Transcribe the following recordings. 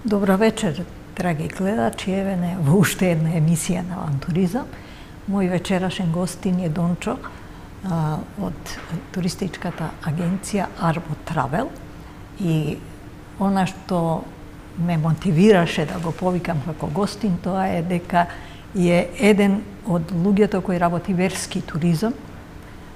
Добра вечер, драги гледачи, еве не во уште една емисија на Авантуризам. Мој вечерашен гостин е Дончо од туристичката агенција Arbo Travel, и она што ме мотивираше да го повикам како гостин, тоа е дека е еден од луѓето кои работи верски туризам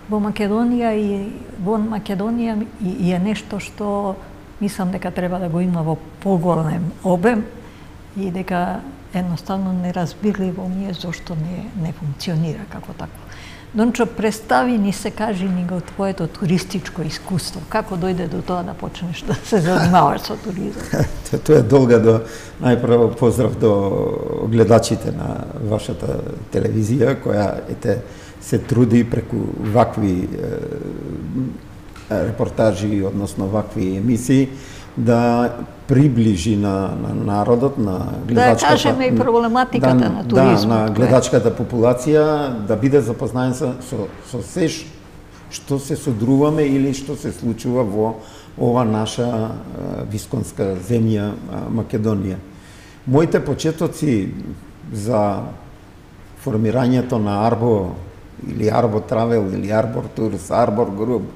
во Македонија, и во Македонија и е нешто што мислам дека треба да го има во поголем обем и дека едноставно неразбирливо ми е зошто не функционира како такво. Дончо, представи ни се, кажи ни го твоето туристичко искуство. Како дојде до тоа да почнеш да се занимаваш со туризам? Тоа е долга најпрво поздрав до гледачите на вашата телевизија, која се труди преку вакви репортажи, односно вакви емисии, да приближи на народот, на гледачката. Да кажеме и проблематиката на туризмот. Да, на гледачката популација, да биде запознаен со се што се содруваме или што се случува во ова наша висконска земја Македонија. Моите почетоци за формирањето на Arbo или Arbo Travel или Arbor Tours, Arbor Group,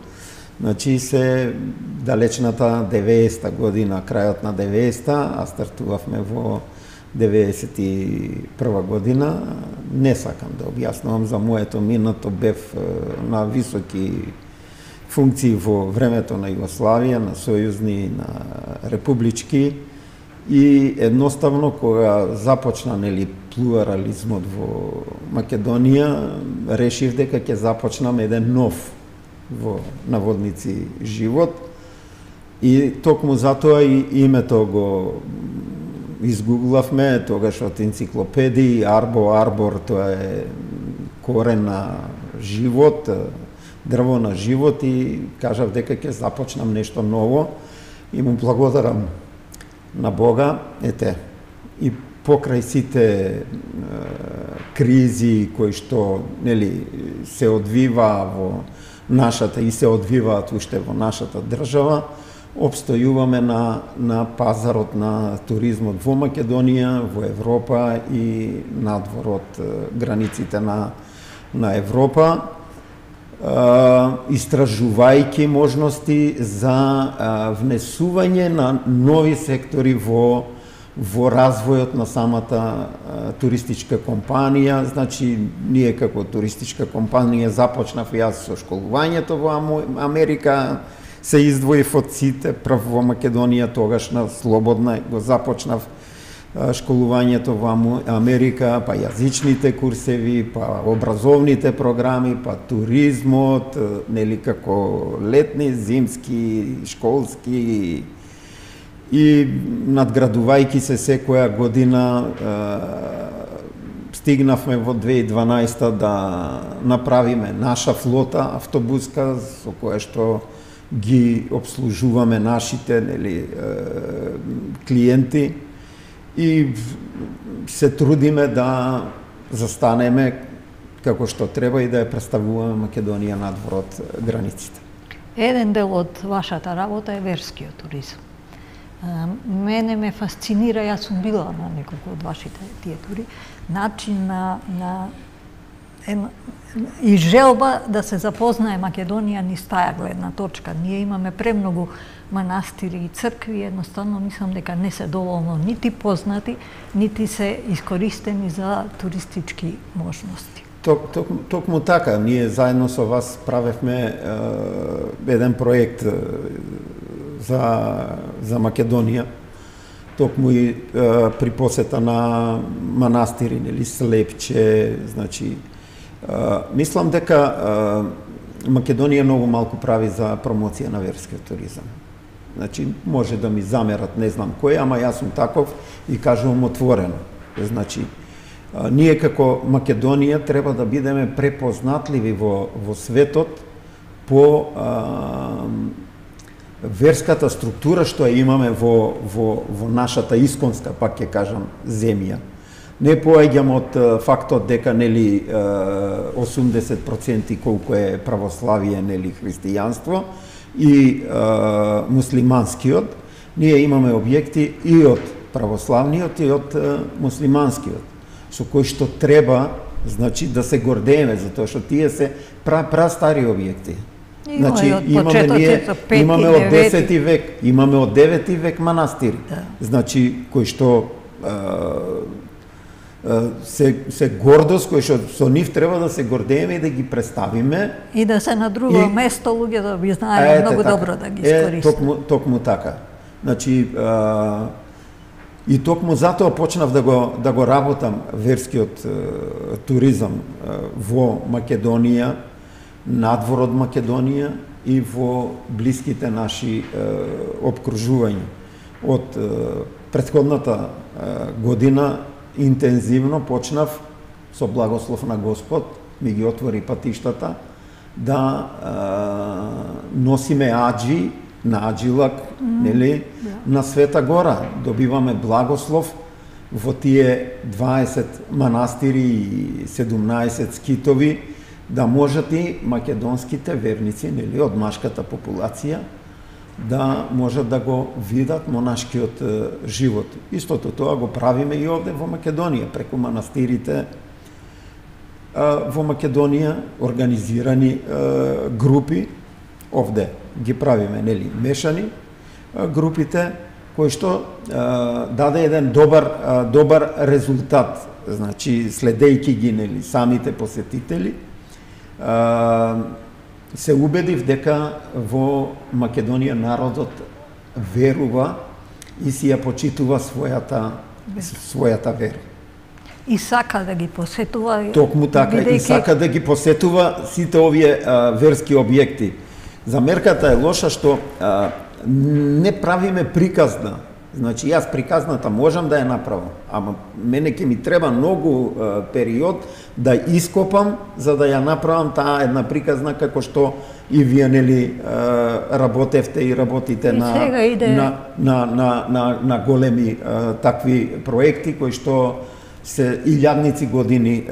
значи се далечната 90-та година, крајот на 90-та, а стартувавме во 91 година. Не сакам да објаснувам за моето минато, бев на високи функции во времето на Југославија, на сојузни, на републички, и едноставно кога започна плурализмот во Македонија, решив дека ќе започнам еден нов, во наводници, живот, и токму затоа и името го изгуглавме тогаш од енциклопедии. Arbor, тоа е корен на живот, дрво на живот, и кажав дека ќе започнам нешто ново и му благодарам на Бога. И покрај сите кризи кои што се одвива во нашата и се одвиваат уште во нашата држава, обстојуваме на пазарот на туризмот во Македонија, во Европа и надвор од границите на Европа, истражувајќи можности за внесување на нови сектори во развојот на самата туристичка компанија. Значи, ние како туристичка компанија започнав јас со школувањето во Америка, се издвоив од сите, прв во Македонија, тогаш на слободна го започнав школувањето во Америка, па јазичните курсеви, па образовните програми, па туризмот, како летни, зимски, школски, и надградувајќи се секоја година стигнавме во 2012 да направиме наша флота автобуска со која што ги обслужуваме нашите клиенти, и се трудиме да застанеме како што треба и да ја представуваме Македонија надвор од границите. Еден дел од вашата работа е верскиот туризам. Мене ме фасцинира, јас сум била на неколку од вашите тие тури, начин и желба да се запознае Македонија низ таа гледна точка. Ние имаме премногу манастири и цркви, едноставно мислам дека не се доволно нити познати, нити се искористени за туристички можности. Токму така, ние заедно со вас правевме еден проект за Македонија, токму и при посета на манастири, Слепче, значи, мислам дека Македонија многу малку прави за промоција на верскиот туризам. Значи, може да ми замерат, не знам кој, ама јас сум таков и кажувам отворено. Значи, ние како Македонија треба да бидеме препознатливи во светот по верската структура што ја имаме во нашата исконска, пак ќе кажам, земја. Не поаѓам од фактот дека 80% колку е православие, христијанство и муслиманскиот. Ние имаме објекти и од православниот и од муслиманскиот, со кој што треба, значи, да се гордееме, затоа што тие се прастари објекти. Значи, имаме од 10 век, имаме од 9 век манастири, значи, кои што се гордост, кои што со нив треба да се гордееме и да ги представиме. И да се на друго место луѓето би знаеле многу добро да ги искористат. Токму така. Значи, и токму затоа почнав да го работам верскиот туризам во Македонија, надвор од Македонија и во блиските наши обкружувања. Од претходната година интензивно почнав со благослов на Господ, ми ги отвори патиштата, да носиме аџи на Аџилак, нели, на Света Гора. Добиваме благослов во тие 20 манастири и 17 скитови, да можат и македонските верници, нели, од машката популација, да можат да го видат монашкиот живот. Истото тоа го правиме и овде во Македонија, преку манастирите во Македонија, организирани групи, овде ги правиме, нели, мешани групите, кои што даде еден добар резултат, значи, следејќи ги, нели, самите посетители, се убедив дека во Македонија народот верува и си ја почитува својата вера. И сака да ги посетува. Токму така, и сака да ги посетува сите овие верски објекти. Замерката е лоша што не правиме приказна. Значи, јас приказната можам да ја направам, ама мене ќе ми треба многу период да ископам за да ја направам таа една приказна како што и вие, нели, работевте и работите на големи такви проекти кои што се илјадници години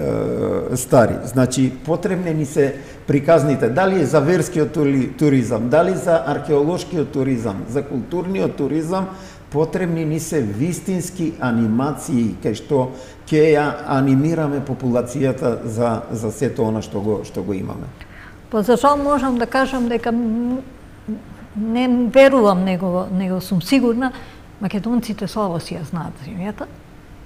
стари. Значи, потребни ни се приказните, дали за верскиот туризам, дали за археолошкиот туризам, за културниот туризам, потребни ни се вистински анимации, кај што ќе ја анимираме популацијата за сето она што го имаме. Па за жал можам да кажам дека не верувам, него сум сигурна, македонците слабо си ја знаат земјата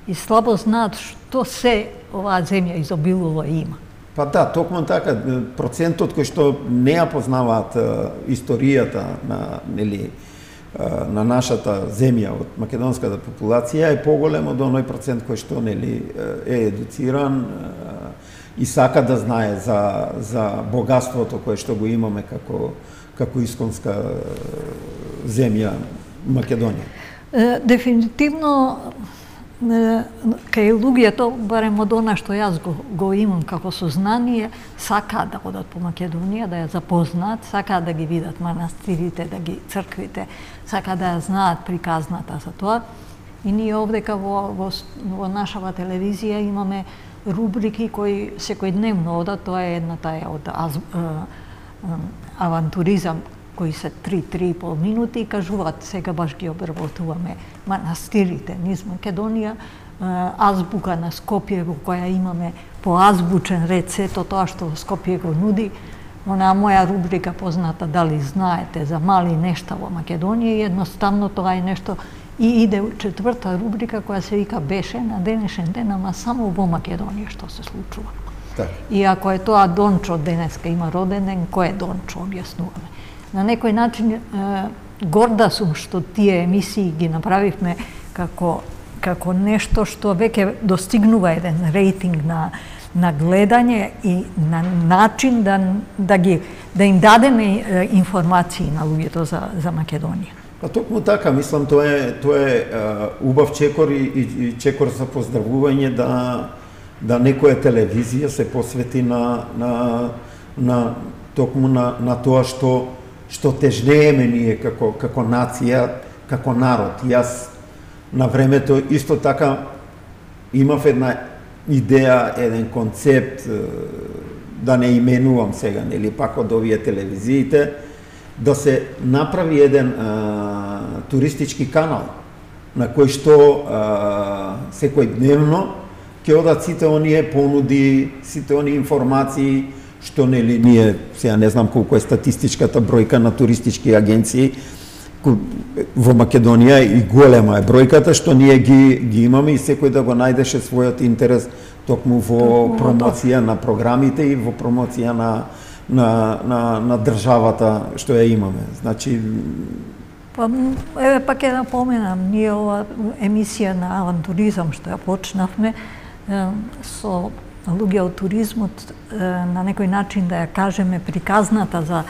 и слабо знаат што се оваа земја изобилува и има. Па да, токму така, процентот кој што не ја познаваат историјата на, нели, на нашата земја од македонската популација е поголем од оној процент кој што, нели, е едуциран и сака да знае за богатството кое што го имаме како исконска земја Македонија. Дефинитивно кај луѓето, барем од она што јас го имам како сознание, сакаат да одат по Македонија, да ја запознаат, сакаат да ги видат манастирите, да ги црквите, сакаат да ја знаат приказната за тоа. И ние овдека во нашава телевизија имаме рубрики кои секојдневно одат, тоа е едната е од авантуризам, кои се 3-3,5 минути и кажуваат, сега баш ги обработуваме манастирите низ Македонија, азбука на Скопје во која имаме по азбучен ред сето тоа што Скопје го нуди. Онаа моја рубрика позната дали знаете за мали нешта во Македонија, и едноставно тоа е нешто и иде четврта рубрика која се вика беше на денешен ден, ама само во Македонија што се случува. Так. И ако е тоа Дончо денеска има роден ден, кој е Дончо, објаснуваме. На некој начин горда сум што тие емисии ги направивме како нешто што веќе достигнува еден рейтинг на гледање и на начин да им дадеме информации на луѓето за Македонија. Па токму така, мислам, тоа е убав чекор и чекор за поздравување да некоја телевизија се посвети токму на тоа што тежнееме ние како нација, како народ. Јас на времето исто така имав една идеја, еден концепт, да не именувам сега, нели, пак од овие телевизиите, да се направи еден туристички канал на кој што секојдневно ќе одат сите оние понуди, сите оние информации што нели ние сега не знам колку е статистичката бројка на туристички агенции во Македонија и голема е бројката што ние ги имаме и секој да го најдеше својот интерес токму во промоција на програмите и во промоција на државата што ја имаме. Значи еве пак ќе напоменам, ние ова емисија на авантуризам што ја почнавме со луѓе од туризмот на некој начин да ја кажеме приказната за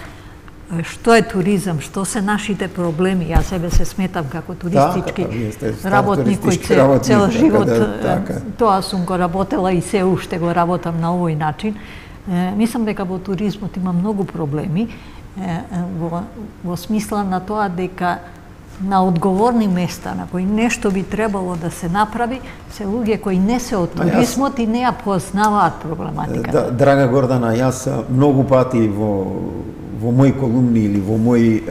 што е туризам, што се нашите проблеми. Јас себе се сметам како туристички работник кој цел живот тоа сум го работела и се уште го работам на овој начин. Мислам дека во туризмот има многу проблеми во смисла на тоа дека на одговорни места на кои нешто би требало да се направи, се луѓе кои не се од туризмот и не ја познаваат проблематиката. Драга Гордана, јас многу пати во мои колумни или во мои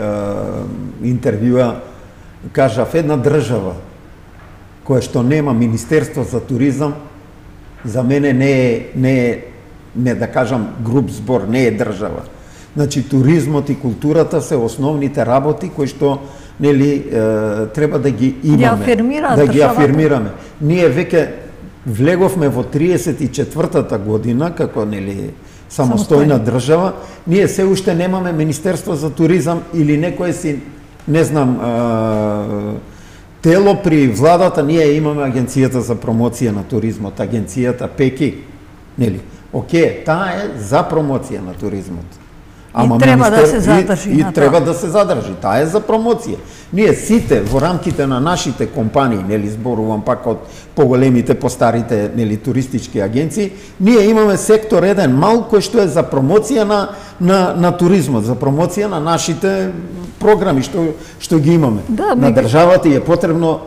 интервјуа кажав една држава која што нема Министерство за туризам за мене не да кажам груб збор, не е држава. Значи туризмот и културата се основните работи кои што нели треба да ги имаме, да ги афирмираме. Ние веќе влеговме во 34-та година како нели самостојна држава, ние се уште немаме Министерство за туризам или некој си, не знам, тело при владата, ние имаме Агенцијата за промоција на туризмот, агенцијата ПЕКИ, нели? Океј, таа е за промоција на туризмот. Ама треба да се задржи и треба да се задржи, таа е за промоција. Ние сите во рамките на нашите компании, нели зборувам пак од поголемите, постарите, нели туристички агенции, ние имаме сектор еден мал кој што е за промоција на туризмот, за промоција на нашите програми што ги имаме. Да, на државата е потребно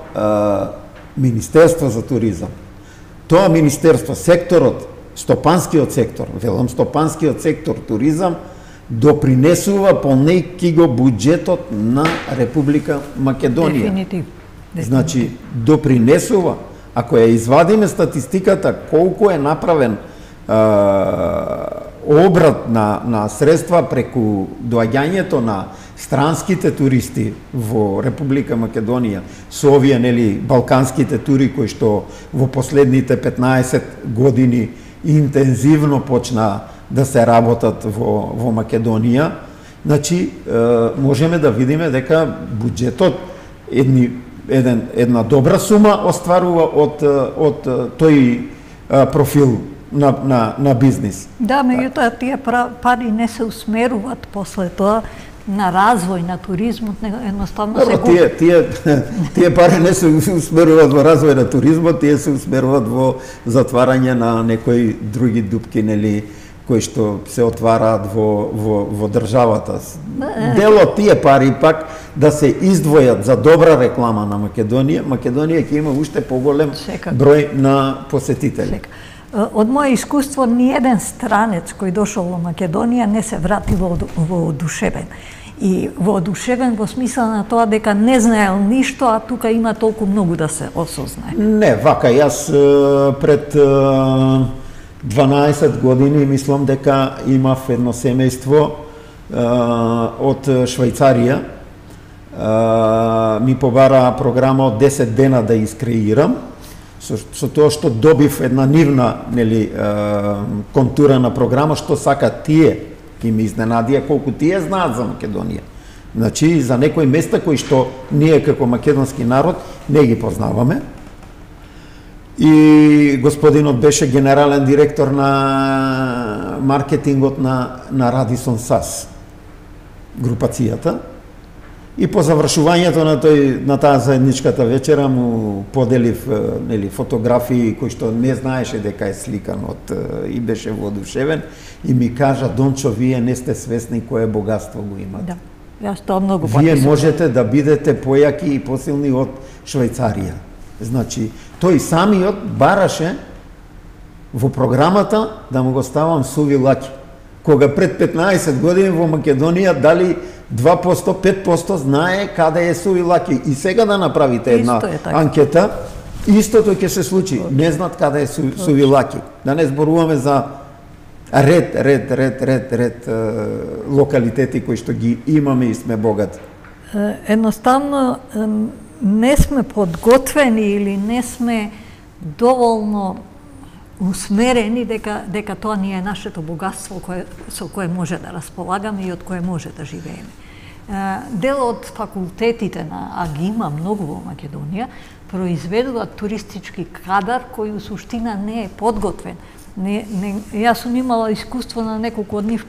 Министерство за туризам. Тоа министерство, секторот, стопанскиот сектор, велам стопанскиот сектор туризам допринесува полнејќи го буџетот на Република Македонија. Дефинитивно. Значи, допринесува. Ако ја извадиме статистиката колку е направен обрат на средства преку доаѓањето на странските туристи во Република Македонија со овие нели балканските тури кои што во последните 15 години интензивно почна да се работат во Македонија, значи можеме да видиме дека буџетот една добра сума остварува од тој профил на бизнис. Да, меѓутоа тие пари не се усмеруваат после тоа на развој на туризмот, едноставно се тие пари не се усмеруваат во развој на туризмот, тие се усмеруваат во затварање на некои други дупки, нели, кои што се отвараат во државата. Дел од тие пари пак да се издвојат за добра реклама на Македонија, Македонија ќе има уште поголем број на посетители. Од моје искуство, ниеден странец кој дошол во Македонија не се врати воодушевен. И воодушевен во смисла на тоа дека не знаел ништо, а тука има толку многу да се осознае. Не, вака, јас пред 12 години мислам дека имав едно семејство од Швајцарија. Ми побара програма од 10 дена да искреирам, со тоа што добив една нивна, нели, контура на програма, што сакат тие, и ми изненадија колку тие знаат за Македонија. Значи, за некои места кои што ние како македонски народ не ги познаваме. И господинот беше генерален директор на маркетингот на Радисон САС, групацијата. И по завршувањето на таа заедничката вечера му поделив нели фотографии кои што не знаеше дека е сликан и беше воодушевен и ми кажа: Дончо, вие не сте свесни кое богатство го имате. Да. Јас тоа многу вие можете да бидете појаки и посилни од Швајцарија. Значи, тој самиот бараше во програмата да му го ставам суви лаќи. Кога пред 15 години во Македонија дали 2%, 5% знае каде е Сувилаки. И сега да направите една анкета, истото ќе се случи. Не знаат каде е Сувилаки. Да не зборуваме за ред локалитети кои што ги имаме и сме богати. Едноставно не сме подготвени или не сме доволно усмерени дека тоа ни е нашето богатство со кое може да располагаме и од кое може да живееме. Дел од факултетите а ги има многу во Македонија, произведуваат туристички кадар кој у суштина не е подготвен. Јас сум имала искуство на неколку од нив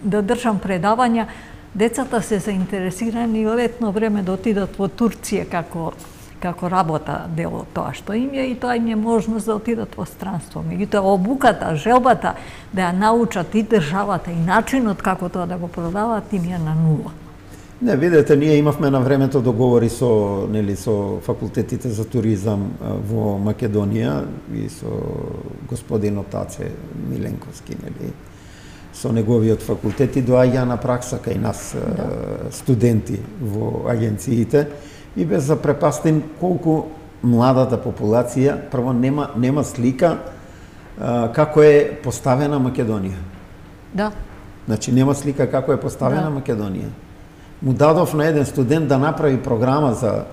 да држам предавања. Децата се заинтересирани летно време да отидат во Турција како работа дел од тоа што им е, и тоа им е можност да отидат во странство. Меѓутоа обуката, желбата да ја научат и државата и начинот како тоа да го продаваат им е на нула. Не, видете, ние имавме на времето договори со факултетите за туризам во Македонија и со господинот Таце Миленковски, со неговиот факултет, и доаѓа на пракса кај нас студенти во агенциите, и без запрепастен колку младата популација прво нема слика како е поставена Македонија. Да. Значи нема слика како е поставена Македонија. Му дадов на еден студент да направи програма за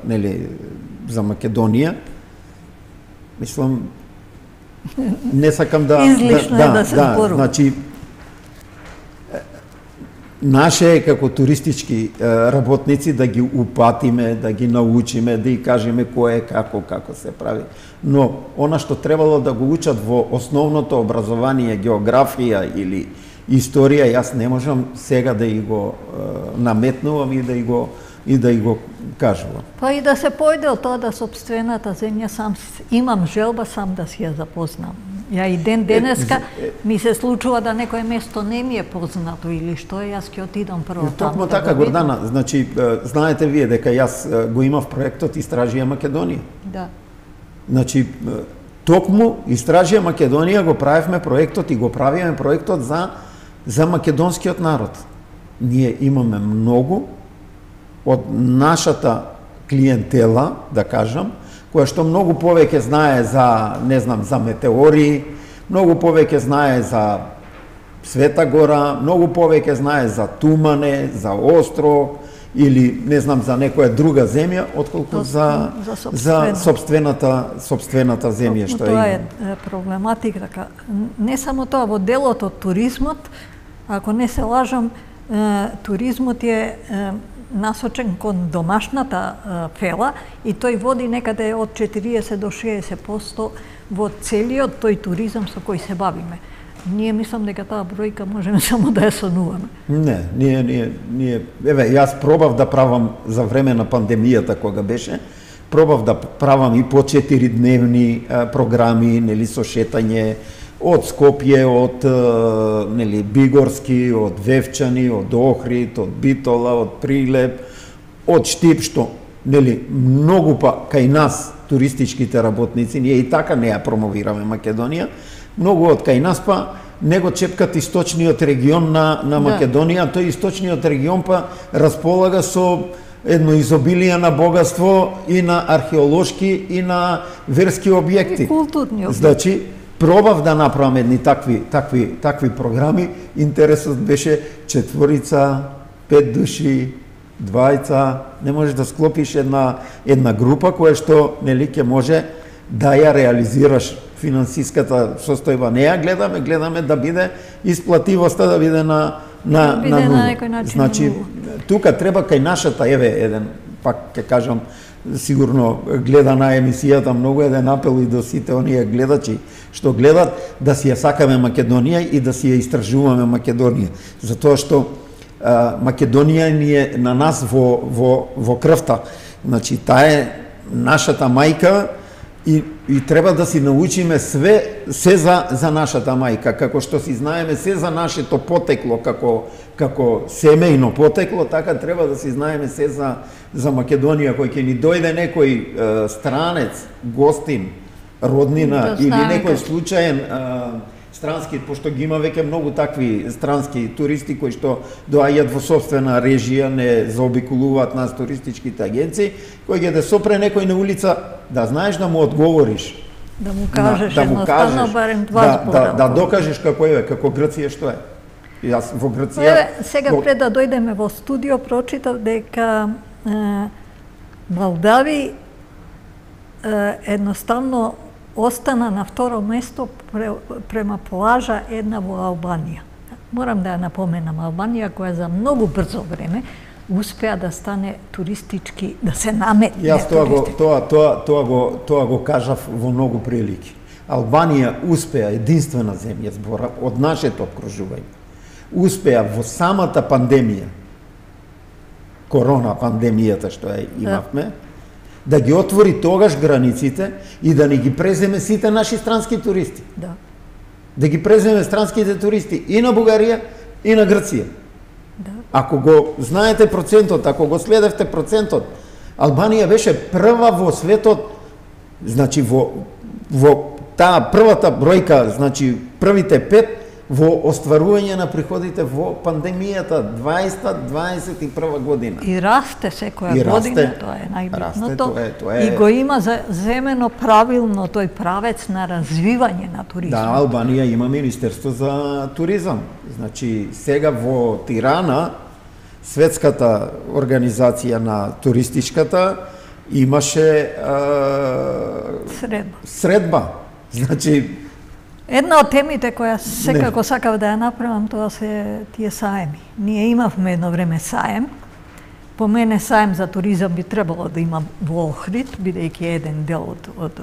Македонија. Мислам, не сакам да излишно е да се зборува. Значи наше е како туристички работници да ги упатиме, да ги научиме, да ги кажеме кој е како се прави. Но она што требало да го учат во основното образование, географија или историја, јас не можам сега да и го наметнувам и да и го кажувам. Па и да се појде од тоа да сопствената земја имам желба сам да си ја запознам. Ја и денеска ми се случува да некое место не ми е познато или што е, јас ќе отидам прво таму. Токму така, Гордана, значи знаете вие дека јас го имав проектот Истражија Македонија. Да. Значи токму Истражија Македонија го правевме проектот и го правиме проектот за македонскиот народ. Ние имаме многу од нашата клиентела, да кажам, која што многу повеќе знае за, не знам, за метеории, многу повеќе знае за Света Гора, многу повеќе знае за Тумане, за Острог или не знам за некоја друга земја, отколку за сопствената земја што тоа е проблематика. Не само тоа, во делот од туризмот, ако не се лажам, туризмот е насочен кон домашната фела и тој води некаде од 40 до 60% во целиот тој туризам со кој се бавиме. Ние мислам дека таа бројка можеме само да ја сонуваме. Не, ние еве јас пробав да правам за време на пандемијата кога беше, пробав да правам и по 4-дневни програми, со шетање од Скопје, од Бигорски, од Вевчани, од Охрид, од Битола, од Прилеп, од Штип, што многу кај нас туристичките работници, ние и така не ја промовираме Македонија, многу од кај нас не го чепкат источниот регион на Македонија, тој источниот регион располага со едно изобилие на богатство и на археолошки и на верски објекти. И културни објекти. Значи, пробав да направам едни такви програми. Интересот беше 4, 5 души, 2, не можеш да склопиш една група која што ќе може да ја реализираш финансиската состојба. Не ја гледаме да биде исплативоста, да биде на нула. Значи, тука треба кај нашата, еден, пак ќе кажам, сигурно гледа на емисијата многу, еден апел и до сите оние гледачи што гледат, да си ја сакаме Македонија и да си ја истражуваме Македонија. Затоа што Македонија ни е на нас во крвта. Значи, таа е нашата мајка и треба да си научиме се за нашата мајка, како што си знаеме се за нашето потекло, како семејно потекло, така треба да си знаеме се за Македонија, кој ќе ни дојде некој странец, гостин, роднина или некој случаен странски, пошто ги има веќе многу такви странски туристи кои што доаѓаат во собствена режија, не заобиколуваат нас туристичките агенции, кои ќе да сопре некој на улица, да знаеш да му одговориш. Да му кажеш едноставно барем два збора. Да докажеш како е, како Грција што е. Јас во Грција... Сега пред да дојдеме во студио, прочитав дека Молдави едноставно остана на второ место према плажа една во Албанија. Морам да ја напоменам, Албанија која за многу брзо време успеа да стане туристички, да се наметне. Јас тоа го кажав во многу прилики. Албанија успеа, единствена земја, збора од нашето обкружување, успеа во самата пандемија, корона пандемијата што ја имавме, да ги отвори тогаш границите и да не ги преземе сите наши странски туристи. Да ги преземе странските туристи и на Бугарија и на Грција. Ако го знаете процентот, ако го следевте процентот, Албанија беше прва во светот, значи во таа првата бројка, значи првите 5 во остварување на приходите во пандемијата 2021 година. И расте секоја година, тоа е најбитното. И го има земено правилно тој правец на развивање на туризмот. Да, Албанија има Министерство за туризам. Значи, сега во Тирана, светската организација на туристичката, имаше средба. Значи, една од темите која секако сакав да ја направам, тоа се тие саеми. Ние имавме едно време саем. По мене саем за туризам би требало да има во Охрид, бидејќи еден дел од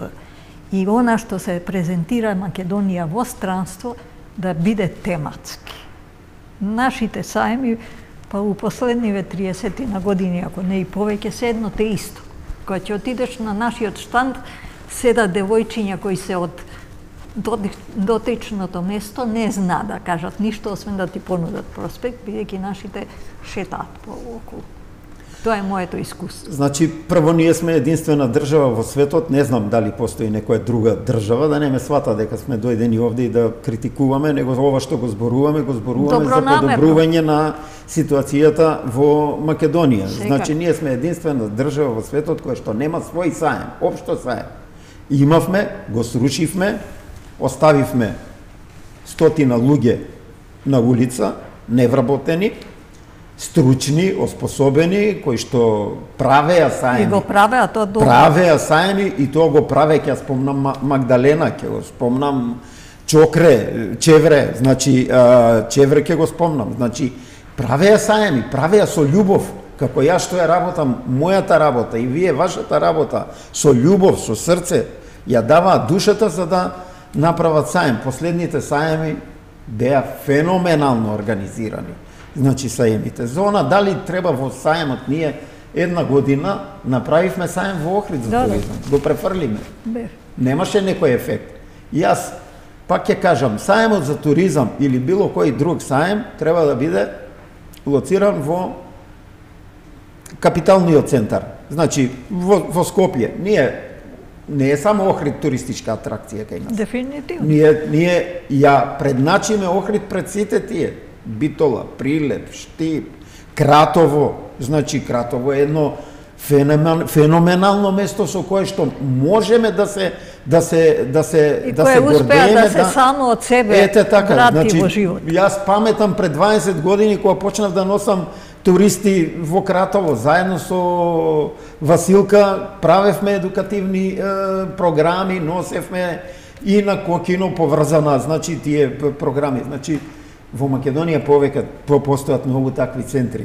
и она што се презентира Македонија во странство да биде тематски. Нашите саеми, па у последниве 30 на години, ако не и повеќе, се едно те исто. Кога ќе отидеш на нашиот штанд, седат девојчиња кои се од дотичното место, не зна да кажат ништо, освен да ти понудат проспект, бидејќи нашите шетаат пооколу. Тоа е моето искуство. Значи, прво ние сме единствена држава во светот, не знам дали постои некоја друга држава, да не ме свата дека сме дојдени овде и да критикуваме, него ова што го зборуваме за подобрување на ситуацијата во Македонија. Значи, ние сме единствена држава во светот која што нема свој саем, општо саем. Имавме, го срушивме, оставивме стотина луѓе на улица, невработени, стручни, оспособени, кои што правеа саеми. И го правеа тоа добро. Правеа саеми и тоа го правеа, ќе спомнам Магдалена, ќе го спомнам Чокре, Чевре, значи Чевре ќе го спомнам. Значи правеа саеми, правеа со љубов, како јас што ја работам, мојата работа и вие вашата работа, со љубов, со срце, ја даваат душата за да направат саем. Последните саеми беа феноменално организирани. Значи саемите. Зона, дали треба во саемот, ние една година направивме саем во Охрид за туризам. Го префрлиме. Немаше некој ефект. Јас пак ќе кажам, саемот за туризам или било кој друг саем треба да биде лоциран во капиталниот центар. Значи во Скопје. Ние не е само Охрид туристичка атракција кај нас. Дефинитивно. Ние ја предначиме Охрид пред сите тие. Битола, Прилеп, Штип, Кратово. Значи, Кратово е едно феноменално место со кое што можеме да се гордееме. И кое успеа да се само од себе врати во живот. Јас паметам пред 20 години кога почнав да носам туристи во Кратово, заедно со Василка правевме едукативни програми, носевме и на Кокино поврзана, значи тие програми. Значи, во Македонија повеќе постојат многу такви центри.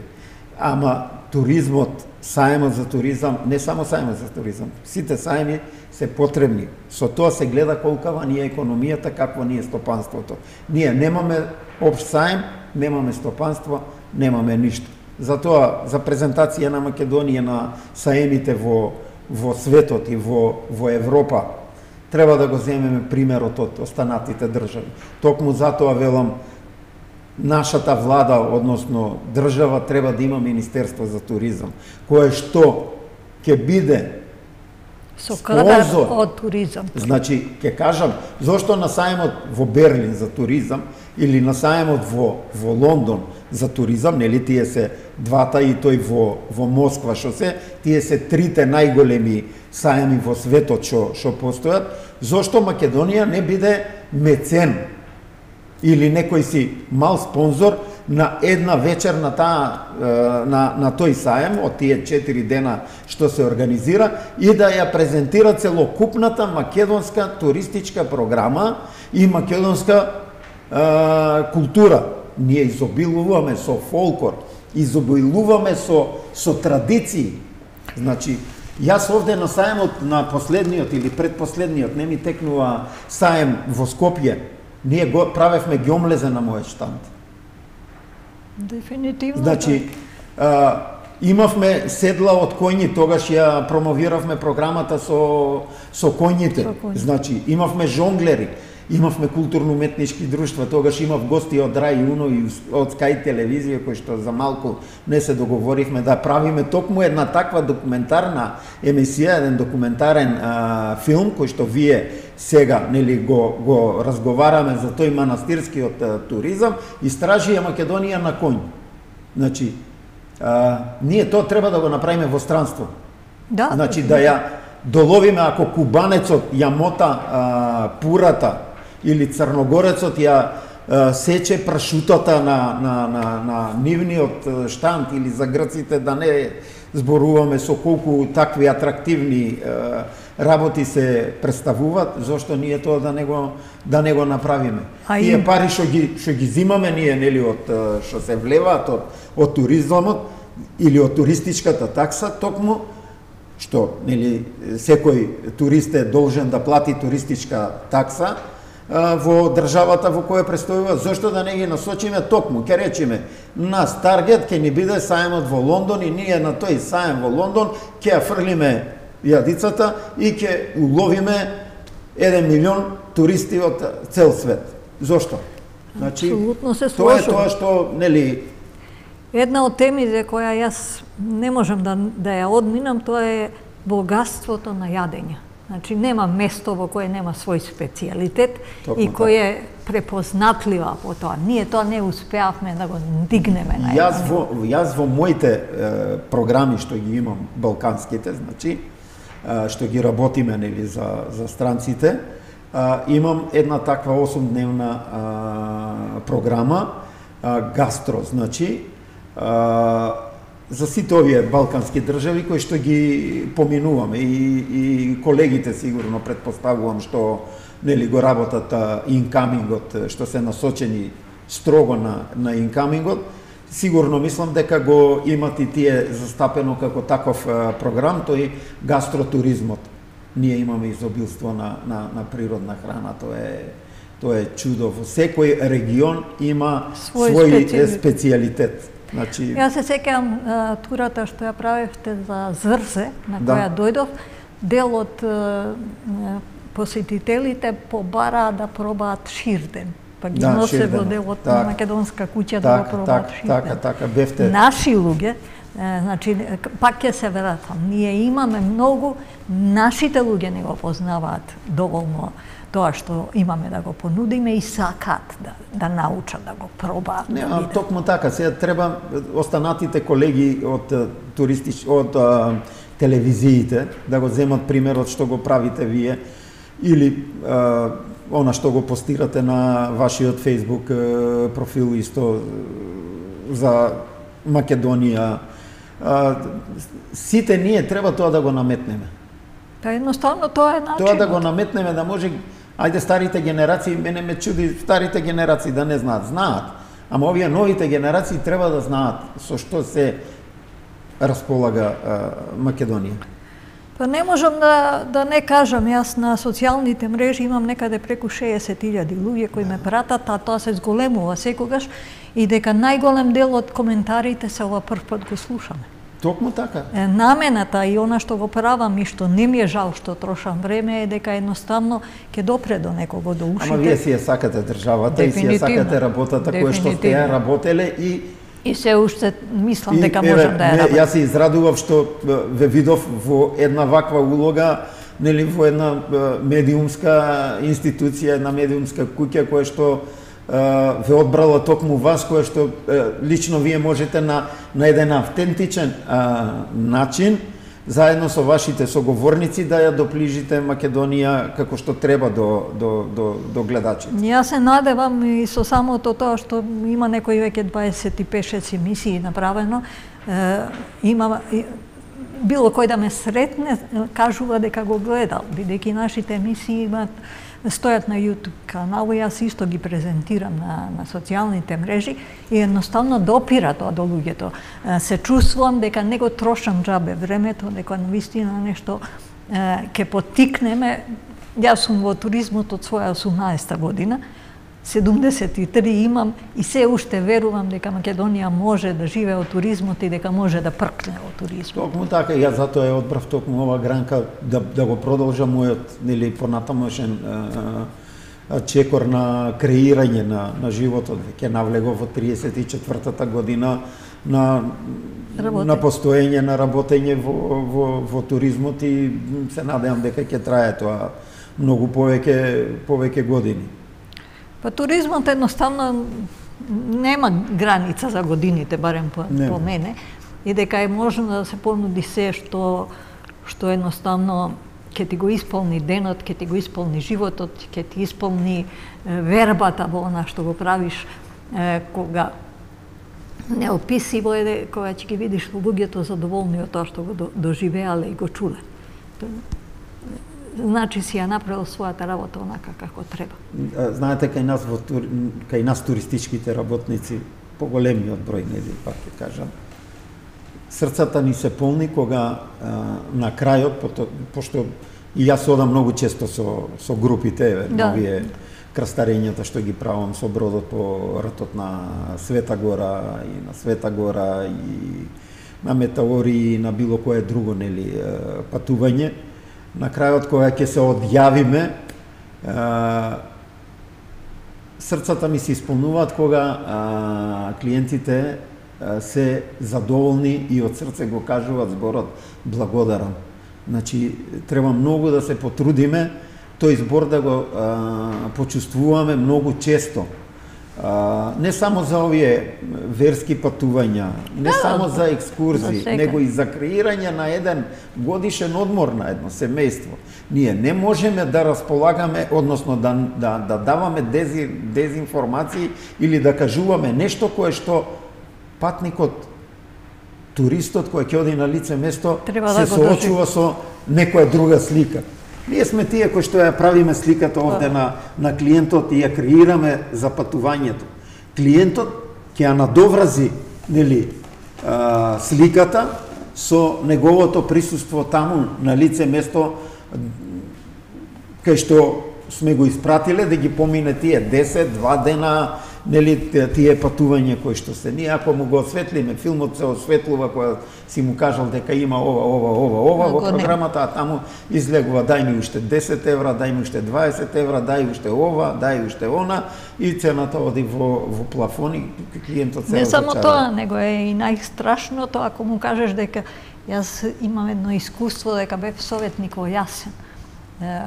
Ама туризмот, саемот за туризам, не само саемот за туризам, сите саеми се потребни. Со тоа се гледа колкава ни е економијата, какво ни е стопанството. Ние немаме општ саем, немаме стопанство, немаме ништо. Затоа, за презентација на Македонија на саемите во светот и во Европа, треба да го земеме примерот од останатите држави. Токму затоа велам, нашата влада, односно држава, треба да има Министерство за туризам, кое што ќе биде Со кадар од туризам. Значи, ќе кажам, зошто на сајмот во Берлин за туризам или на сајмот во Лондон за туризам, нели тие се двата и тој во Москва што се, тие се трите најголеми сајми во светот што постојат, зошто Македонија не биде мецен или некој си мал спонзор на една вечер на на тој саем од тие 4 дена што се организира и да ја презентира целокупната македонска туристичка програма и македонска култура. Ние изобилуваме со фолклор, изобилуваме со традиции. Значи, јас овде на саемот на последниот или предпоследниот, не ми текнува саем во Скопје, ние го правевме ѓомлезе на мојот штанд. Дефинитивно. Значи, имавме седла од коњи, тогаш ја промовиравме програмата со коњите. Значи, имавме жонглери, имавме културно-уметнички друштва, тогаш имав гости од Рај Уно и од Скај телевизија, кои што за малку не се договоривме да правиме токму една таква документарна емисија, еден документарен филм, кој што вие сега нели го разговараме за тој манастирскиот туризам, истражија Македонија на коњ. Значи, ние тоа треба да го направиме во странство. Да. Значи, да ја доловиме ако кубанецот ја мота пурата или црногорецот ја сече прашутата на нивниот штанд или за грците, да не зборуваме со колку такви атрактивни работи се представуваат, зошто ние тоа да не го направиме. Тие пари што ги зимаме ние нели од што се влеваат од туризмот или од туристичката такса, токму што нели секој турист е должен да плати туристичка такса во државата во која престојува, зошто да не ги насочиме токму, ќе речеме, нас таргет ќе ни биде саемот во Лондон и ние на тој саем во Лондон ќе ја фрлиме јадицата и ќе уловиме 1 милион туристи од цел свет. Зошто? Значи, апсолутно се тоа е слушам. тоа што нели Една од темите која јас не можам да ја одминам, тоа е богатството на јадење. Значи, нема место во кое нема свој специјалитет и кој е препознатлива по тоа. Ние тоа не успеавме да го дигнеме на Јас во моите програми што ги имам балканските, значи, што ги работиме нели за странците, имам една таква 8-дневна програма гастро, значи, за сите овие балкански држави кои што ги поминуваме и колегите сигурно предпоставувам што нели го работат инкамингот, што се насочени строго на инкамингот, сигурно мислам дека го имат и тие застапено како таков програм, тој гастротуризмот. Ние имаме изобилство на природна храна, тоа е чудо. Во секој регион има свој специјалитет. Значи... Јас се сеќавам турата што ја правевте за Зрзе, на која дојдов, дел од посетителите побараа да пробаат ширден. Па ги носе во делот на македонска куќа да го пробаат ширден. Така, бевте. Наши луѓе, значи, пак ќе се вратам, ние имаме многу, нашите луѓе не го познаваат доволно тоа што имаме да го понудиме и сакаат да научат, да го пробаат. Не, токму така, сега треба останатите колеги од од телевизиите да го земат примерот што го правите вие или она што го постирате на вашиот Facebook профил исто за Македонија. Сите ние треба тоа да го наметнеме. Та едноставно тоа е начинот. Тоа да го наметнеме, да може, ајде старите генерации, мене ме чуди старите генерации да не знаат, ама овие новите генерации треба да знаат со што се располага Македонија. Па не можам да не кажам, јас на социјалните мрежи имам некаде преку 60.000 луѓе кои ме пратат, а тоа се зголемува секогаш и дека најголем дел од коментарите се ова прв пат го слушаме. Токму така. Намената и она што го правам и што не ми е жал што трошам време е дека едноставно ќе допре до некого, до ушите. Ама вие си ја сакате државата и си ја сакате работата која што сте ја работеле и се уште мислам дека можам да ја работам. Јас се израдував што ве видов во една ваква улога нели во една медиумска институција, една медиумска куќа која што ве одбрала токму вас, која што лично вие можете на еден автентичен начин заедно со вашите соговорници да ја доближите Македонија како што треба до гледачите. Јас се надевам и со самото тоа што има некои веќе 25 емисии направено, има било кој да ме сретне кажува дека го гледал, бидејќи нашите емисии стојат на YouTube канал, јас исто ги презентирам на социјалните мрежи и едноставно допира тоа до луѓето. Се чувствувам дека не го трошам џабе времето, дека навистина нешто ќе поттикнеме. Јас сум во туризмот од своја 18-та година, 73 имам и се уште верувам дека Македонија може да живее од туризмот и дека може да пркне од туризмот. Токму така, јас затоа ја одбрав токму ова гранка да го продолжам мојот нели понатамошен чекор на креирање на животот. Ќе навлегов во 34-та година на постоење, на работење во туризмот и се надевам дека ќе трае тоа многу повеќе години. Па туризмот едноставно нема граница за годините, барем по мене, и дека е можно да се понуди се што едноставно ќе ти го исполни денот, ќе ти го исполни животот, ќе ти исполни вербата во она што го правиш, кога неописиво е кога ќе ги видиш луѓето задоволни од тоа што го доживеале и го чуле. Значи си ја направил својата работа онака како треба. Знаете, кај нас туристичките работници, поголемиот број, нели, пак ќе кажам, срцата ни се полни кога на крајот, пошто и јас одам многу често со групите, овие крстарењата што ги правам со бродот по ратот на Света Гора и на Света Гора и на Метаори и на било кое друго, нели, патување. На крајот, кога ќе се одјавиме, срцата ми се исполнуваат кога клиентите се задоволни и од срце го кажуваат зборот благодарам. Значи, треба многу да се потрудиме тој збор да го почувствуваме многу често. Не само за овие верски патувања, не само за екскурзии, него и за креирање на еден годишен одмор на едно семејство. Ние не можеме да располагаме, односно да даваме дезинформации или да кажуваме нешто кое што патникот, туристот кој ќе оди на лице место се соочува со некоја друга слика. Ние сме тие кои што ја правиме сликата овде на клиентот и ја креираме за патувањето. Клиентот ќе ја надоврази, нели, сликата со неговото присуство таму на лице место кај што сме го испратиле да ги помине тие 10, 2 дена, нели, тие патувања кои што се. Ние ако му го осветлиме, филмот се осветлува кога си му кажал дека има ова во програмата, а таму излегува дај ми уште 10 евра, дај ми уште 20 евра, дај уште ова, дај уште она и цената оди во плафони, клиентот се не само тоа, него е и најстрашното ако му кажеш дека јас имам едно искуство дека бев советник во Јасен.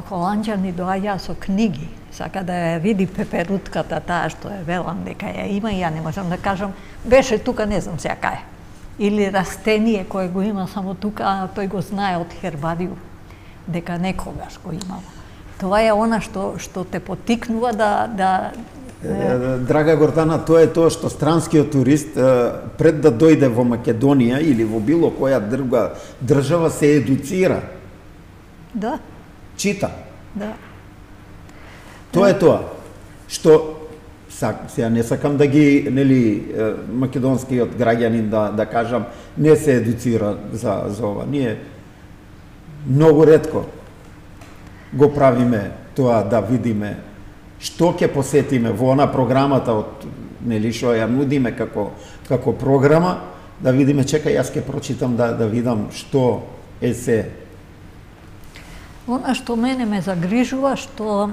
Холанџани доаѓаа со книги, сака да ја види пеперутката таа што е велам дека ја има и ја не можам да кажам, беше тука, не знам сега кај. Или растение кое го има само тука, а тој го знае од хербариум, дека некогаш го имало. Тоа е она што те поттикнува да Драга Гордана, тоа е тоа што странскиот турист пред да дојде во Македонија или во било која друга држава се едуцира. Да. Чита. Да. Тоа е тоа што сега не сакам да ги, нели, македонскиот граѓанин да кажам не се едуцира за ова. Ние многу ретко го правиме тоа да видиме што ќе посетиме во она програмата од, нели, што ја нудиме како програма, да видиме, чекај, јас ќе прочитам да видам што е се. Она што мене ме загрижува, што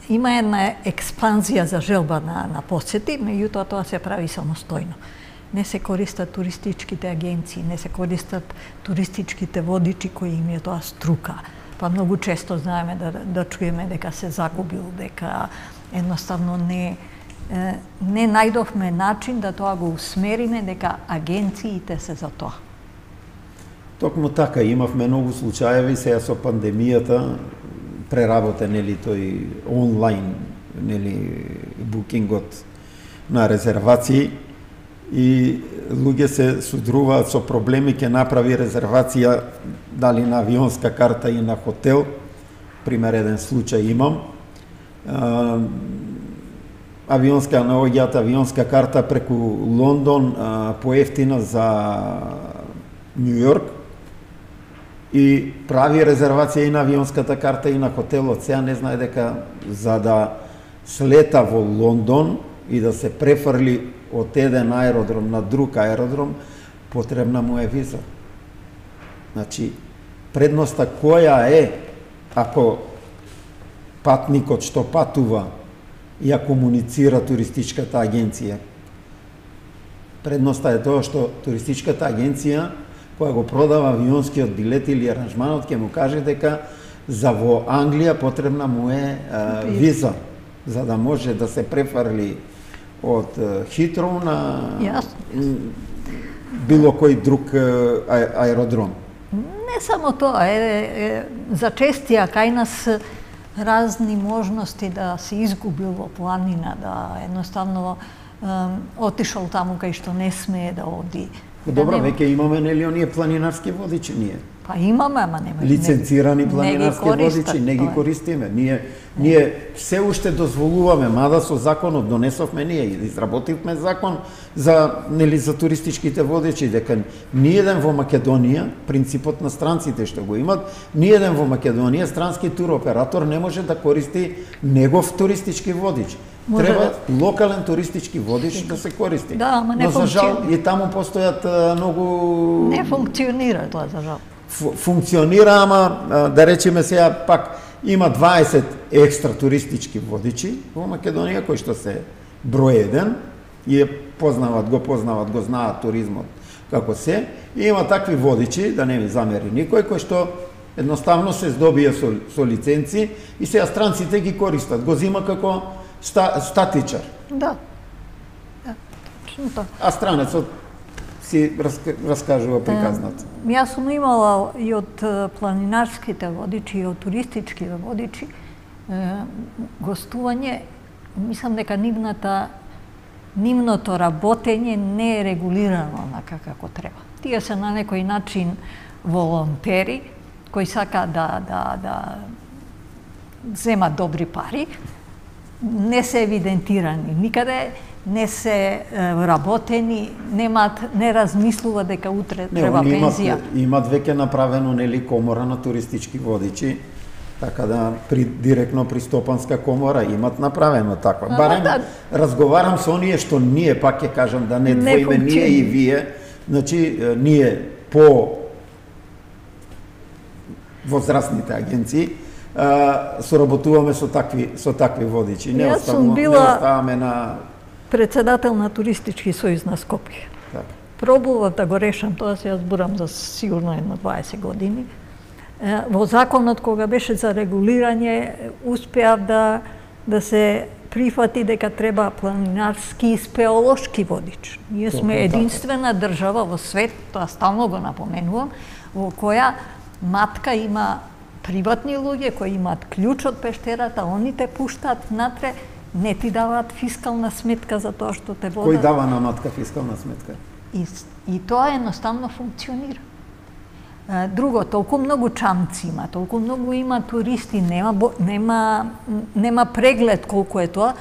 има една експанзија за желба на посети, меѓутоа тоа се прави самостојно. не се користат туристичките агенции, не се користат туристичките водичи кои им е тоа струка. Па многу често знаеме да чуеме дека се загубил, дека едноставно не најдовме начин да тоа го усмериме, дека агенциите се за тоа. Токму така, имавме многу случаеви сега со пандемијата, преработен тој онлайн букингот на резервации и луѓе се судруваат со проблеми, ќе направи резервација дали на авионска карта и на хотел. Пример, еден случај имам. Наоѓаат авионска карта преку Лондон поевтина за Њу Йорк и прави резервација и на авионската карта и на хотелот. Сега не знае дека за да слета во Лондон и да се префрли од еден аеродром на друг аеродром, потребна му е виза. Значи, предноста која е ако патникот што патува ја комуницира туристичката агенција? Предноста е тоа што туристичката агенција која го продава авионскиот билет или аранжманот ќе му каже дека за во Англија потребна му е виза, за да може да се префрли од Хитроу на било кој друг аеродром. Не само тоа, зачестија кај нас разни можности да се изгубил во планина, да едноставно отишол таму кај што не смее да оди. Добро, веќе имаме нели оние планинарски водичи ние. Па имаме, ама нема. Лиценцирани планинарски водичи, не ги користиме. Ние се уште дозволуваме, мада со законот донесовме ние и изработивме закон за туристичките водичи, дека ниеден во Македонија, принципот на странците што го имат, ниеден во Македонија странски туроператор не може да користи негов туристички водич. Треба локален туристички водич да се користи. Да, ама не за жал и таму постојат многу... Не функционира тоа, за жал. Функционира, ама да речеме сега пак има 20 екстра туристички водичи во Македонија кои што се број 1 и го знаат туризмот како се. И има такви водичи, да не ми замери никој, кој што едноставно се здобија со лиценци и сега странците ги користат, го зима како статичар. Да. Точно тоа. А странецот си раскажува приказната. Јас сум имала и од планинарските водичи и од туристичките водичи гостување. Мислам дека нивното работење не е регулирано онака како треба. Тие се на некој начин волонтери кои сакаат да земат добри пари, не се евидентирани никаде, не се работени, не размислува дека утре треба пензија. Имат веќе направено комора на туристички водичи, така да директно при Стопанска комора имат направено таква. Барем разговарам со оние што ние, пак ќе кажам да не двоиме ние и вие, значи ние по возрастните агенции соработуваме со такви водичи. Не оставаме на председател на Туристички сојуз на Скопје. Пробував да го решам тоа, се јас зборам за сигурно 20 години. Во законот кога беше за регулирање успеав да се прифати дека треба планинарски и спелеолошки водич. Ние сме единствена држава во свет, тоа стално го напоменувам, во која матка има приватни луѓе кои имаат клjuč од пештерата, они те пуштаат натре, не ти даваат фискална сметка за тоа што те водат. Кој дава на матка фискална сметка? И тоа едноставно функционира. Друго, толку многу чамци има, толку многу има туристи, нема преглед колку е тоа.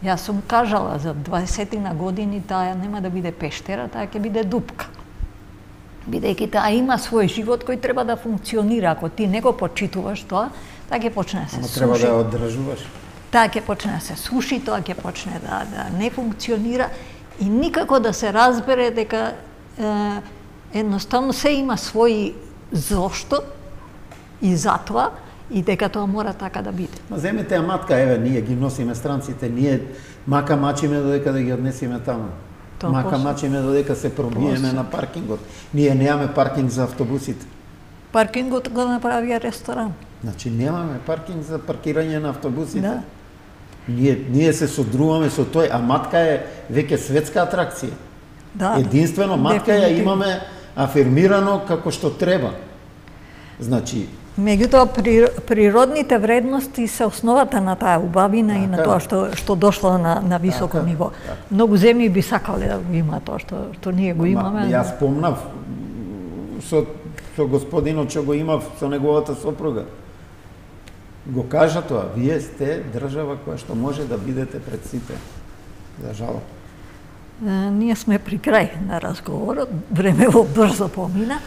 Јас сум кажала за 20 години таа нема да биде пештера, таа ќе биде дупка. Бидејќи таа има свој живот кој треба да функционира. Ако ти не го почитуваш тоа, таа ќе почне да се суши. Треба да ја одржуваш. Таа ќе почне да се суши, тоа ќе почне да не функционира и никако да се разбере дека едноставно се има свој зошто и затоа и дека тоа мора така да биде. Ма земете ја матка, еве, ние ги носиме странците, ние мака мачиме додека да ги однесиме таму. Мака начине додека се пробиеме на паркингот. Ние немаме паркинг за автобусите. Паркингот го направија ресторан. Значи немаме паркинг за паркирање на автобусите. Да. Ние се содруваме со тој, а матка е веќе светска атракција. Да, Единствено матка ја имаме афирмирано како што треба. Значи, меѓутоа природните вредности се основата на таа убавина и на тоа што дошло на високо ниво. Многу земји би сакале да го има тоа што ние го имаме. Јас спомнав со господинот што го имав со неговата сопруга. Го кажа тоа, вие сте држава која што може да бидете пред сите. За жал. Ние сме при крај на разговорот, времево брзо помина.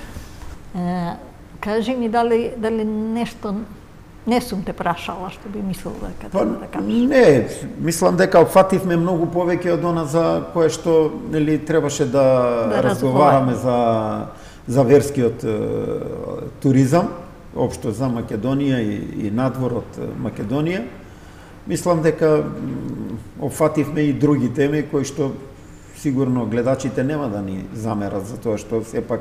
Кажи ми дали нешто не сум те прашала што би мислел дека треба да кажеш. Не, мислам дека опфативме многу повеќе од она за кое што нели требаше да разговараме за верскиот туризам, општо за Македонија и надвор од Македонија. Мислам дека опфативме и други теми кои што сигурно гледачите нема да ни замерат за тоа што сепак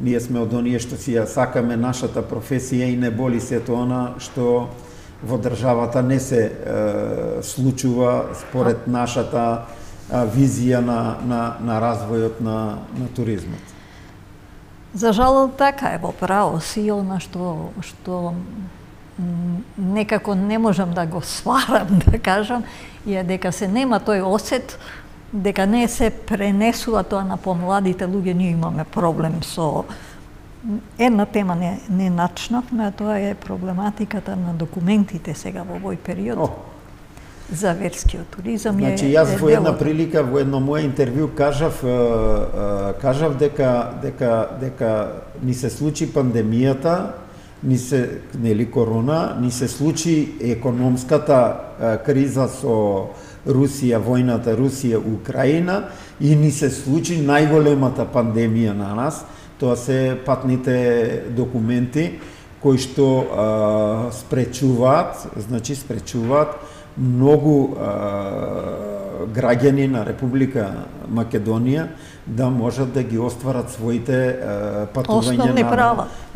ние сме од оние што си ја сакаме нашата професија и не боли сето она што во државата не се случува според нашата визија на развојот на туризмот. За жал така е, во право си она што некако не можам да го сварам, да кажам, е дека се нема тој осет, дека не се пренесува тоа на помладите луѓе. Ние имаме проблем со една тема не начнавме, а тоа е проблематиката на документите сега во овој период. За верскиот туризам. Значи, јас во една прилика, во едно моје интервју кажав дека ни се случи пандемијата, нели корона, ни се случи економската криза со Русија, војната Русија-Украина и ни се случи најголемата пандемија на нас. Тоа се патните документи кои што спречуваат многу граѓани на Република Македонија да можат да ги остварат своите патувања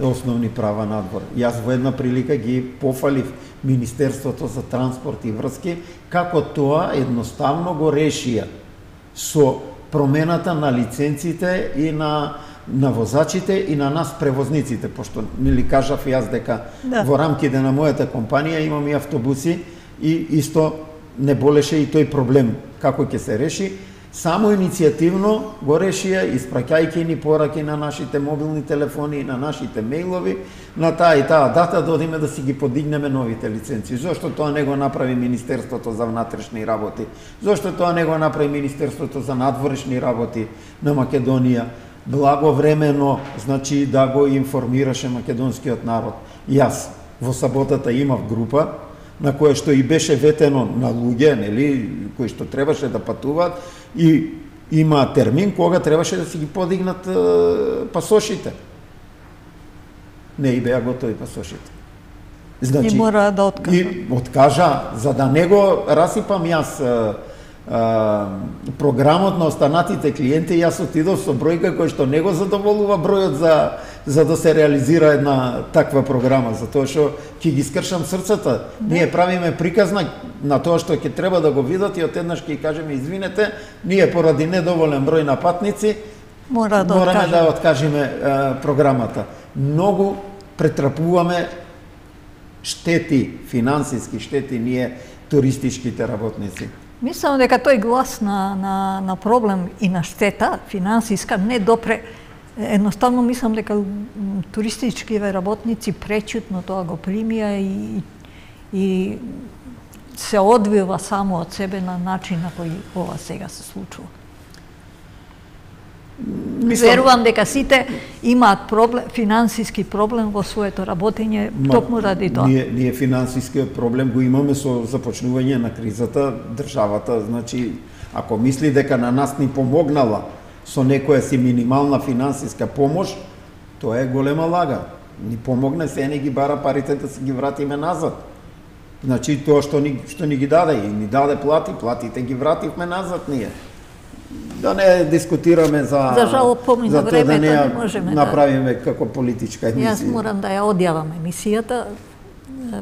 основни права надвор. Јас во една прилика ги пофалив Министерството за транспорт и врски како тоа едноставно го решија со промената на лиценците и на возачите и на нас превозниците, пошто нели кажав јас дека во рамките на мојата компанија имам и автобуси и исто не болеше и тој проблем како ќе се реши. Само иницијативно го решија, испраќајќи ни пораки на нашите мобилни телефони и на нашите мејлови, на таа и таа дата да одиме да си ги подигнеме новите лиценци. Зошто тоа не го направи Министерството за внатрешни работи? Зошто тоа не го направи Министерството за надворешни работи на Македонија? Благовремено, значи, да го информираше македонскиот народ. Јас во саботата имав група на која што и беше ветено на луѓе, нели, кои што требаше да патуваат и има термин кога требаше да си ги подигнат пасошите. Не и беа готови пасошите. Значи, и мора да откажа. И откажа, за да не го расипам јас програмот на останатите клиенти, јас отидов со бројка кој што не го задоволува бројот за да се реализира една таква програма, затоа што ќе ги скршам срцата. Ние правиме приказна на тоа што ќе треба да го видат и одеднаш ќе кажеме извинете, ние поради недоволен број на патници мораме да откажеме програмата. Многу претрпуваме штети, финансиски штети ние туристичките работници. Мислам дека тој глас на проблем и на штета финансиска не допре. Едноставно мислам дека туристичките работници пречутно тоа го примија и се одвива само од себе на начин на кој ова сега се случува. Верувам дека сите имаат финансиски проблем во своето работење токму ради тоа. Ние финансискиот проблем го имаме со започнување на кризата. Државата, значи, ако мисли дека на нас ни помогнала со некоја си минимална финансиска помош, тоа е голема лага. Ни помогне, се не ги бара парите да си ги вратиме назад. Значи, тоа што ни ги даде, и ни даде платите ги вративме назад ние. Да не дискутираме за жал помина тоа да не ја можеме направиме како политичка емисија. Јас морам да ја одјавам емисијата.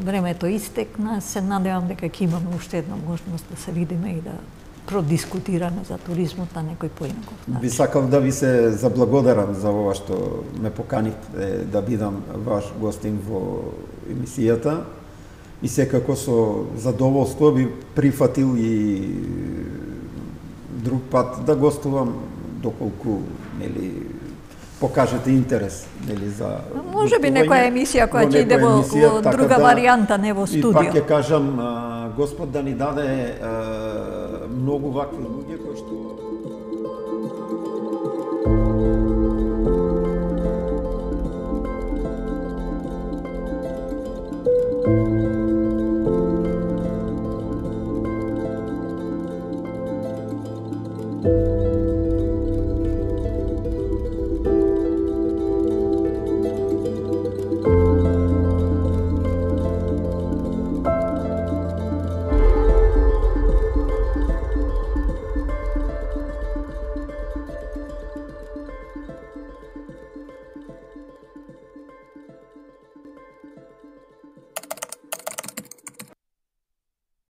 Времето истекна, се надевам дека ќе имаме уште една можност да се видиме и да продискутираме за туризмот на некој поинаков начин. Би сакал да ви се заблагодарам за ова што ме поканивте да бидам ваш гостин во емисијата и секако со задоволство би прифатил и друг пат да гостувам доколку покажете интерес за може би некоја емисија која ќе иде во друга варијанта, не во студио. И пак ќе кажам, Господ да ни даде многу вакви